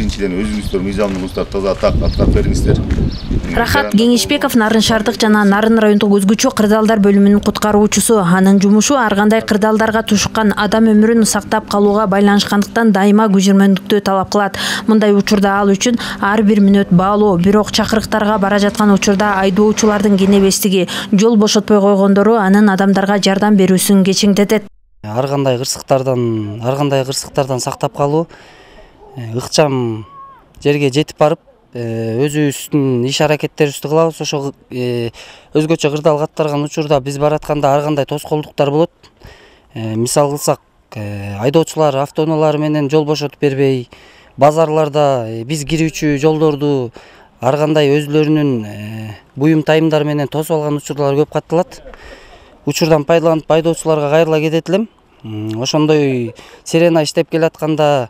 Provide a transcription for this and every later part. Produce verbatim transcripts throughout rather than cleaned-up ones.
биринчиден өзүңүздөр мыйзамдуулуктар таза аткарып бериңиздер. Рахат Кеңешбеков Нарын шаардык жана Нарын райондук өзгөчө кырдаалдар бөлүмүнүн куткаруучусу. Анын жумушу ар кандай кырдаалдарга тушуккан адам өмүрүн сактап калууга байланышкандыктан дайыма күжүрмөндүктү талап кылат. Мындай учурда ал үчүн ар бир мүнөт баалуу, бирок чакырыктарга бара жаткан учурда айдоочулардын кенебестиги, жол бошотпой койгондору анын адамдарга жардам берүүсүн кечеңдетет. Ар кандай кырсыктардан, ар кандай кырсыктардан сактап калуу, ыкчам жерге жетип барып, өзүбүздүн иш аракеттерибизди кылабыз. Ошо өзгөчө кырдаал каттарган учурда биз баратканда ар кандай тоскоолдуктар болот. Мисал кылсак, айдоочулар автоунаалары менен жол бошотуп бербей, базарларда биз кирүүчү жолдорду ар кандай өзлөрүнүн буюм тайымдары менен тосуп алган учурлар көп катталат. Учурдан пайдаланып айдоочуларга кайрыла кетет элем. Ошондой сирена иштеп келатканда,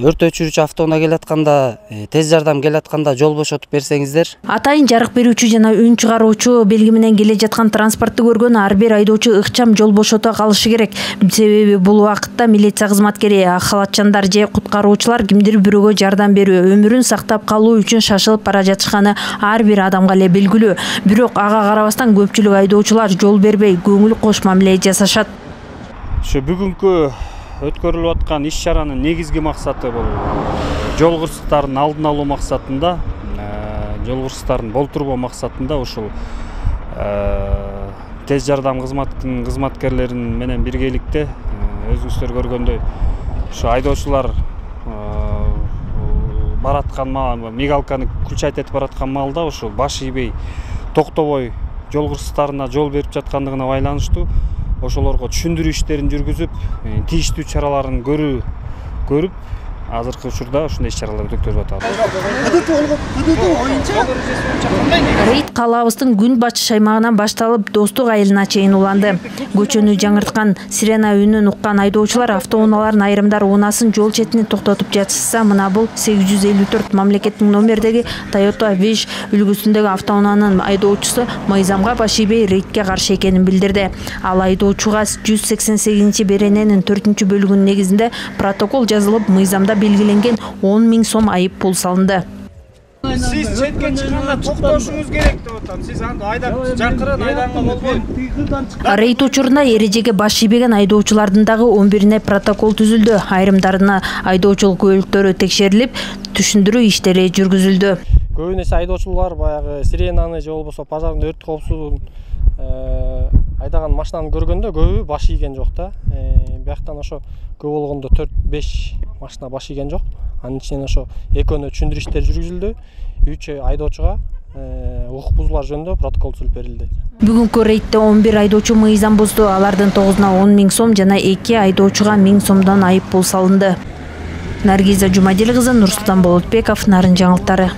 өрт өчүрүүчү автоунаа келатканда, тез жардам келатканда жол бошотуп берсеңиздер. Атайын жарык берүүчү жана үн чыгаруучу белги менен келе жаткан транспортты көргөн ар бир айдоочу ыкчам жол бошото калышы керек. Себеби бул убакытта милиция кызматкери, ак халатчандар же куткаруучулар кимдир бирөөгө жардам берүү, өмүрүн сактап калуу үчүн шашылып бара жатышканы ар бир адамга эле белгилүү. Бирок ага карабастан көпчүлүк айдоочулар жол бербей, көңүл кош мамиле жасашат. Ошо бүгүнкү өткөрүлүп аткан иш чаранын негизги максаты бул жол кырсыктарын алдын алуу максатында, жол кырсыктарын болтурбоо максатында ушул тез жардам кызматынын кызматкерлерин менен биргеликте өзүңүздөр көргөндөй ушу айдоочулар бараткан мигалканы күлчайт этип бараткан маалда ушул баш ийбей, токтобой жол кырсыктарына жол берип жаткандыгына байланыштуу ошолорго түшүндүрүү иштерин жүргүзүп, тийиштүү чараларын көрүү көрүп, азыркы учурда ушундай иш чараларды өткөрүп атабыз. Рейд калаабыздын күн батыш аймагынан башталып, Достук айылына чейин уланды. Көчөнү жаңырткан сирена үнүн уккан айдоочулар автоунаалардын айрымдары унаасын жол четине токтотуп жатышса, мына бул сегиз жүз элүү төрт мамлекеттик номердеги Toyota Wish үлгүсүндөгү автоунаанын айдоочусу мыйзамга баш ийбей рейдке каршы экенин билдирди. Ал айдоочуга жүз сексен сегизинчи берененин төртүнчү бөлүгүнүн негизинде протокол жазылып, мыйзамда белгиленген он миң сом айып пул салынды. Сиз четке чыкканда токтошуңуз керек деп атам. Сиз анда айдап жакырын айданга болбойт. Рейд учурунда эрежеге баш ийбеген айдоочулардын дагы он бирине протокол түзүлдү. Айрымдарына айдоочулук күбөлүктөрү текшерилип, түшүндүрүү иштери жүргүзүлдү. Көбүнесе айдоочулар баягы сиренаны же болбосо пожарный өрт коопсуздугун айдаган машинаны көргөндө көбү баш ийген жок да. Бияктан ошо көп болгондо төрт беш машина баш ийген жок. Анын ичинен ошо экөөнө түшүндүрүү иштери жүргүзүлдү. үч айдоочуга укук бузуулар жөнүндө протокол түзүлүп берилди. Бүгүнкү рейдте он бир айдоочу мыйзам бузду. Алардын тогузуна он миң сом жана эки айдоочуга миң сомдон айып пул салынды. Наргиза Жумадил кызы, Нурсултан Болотбеков, Нарын жаңылыктары.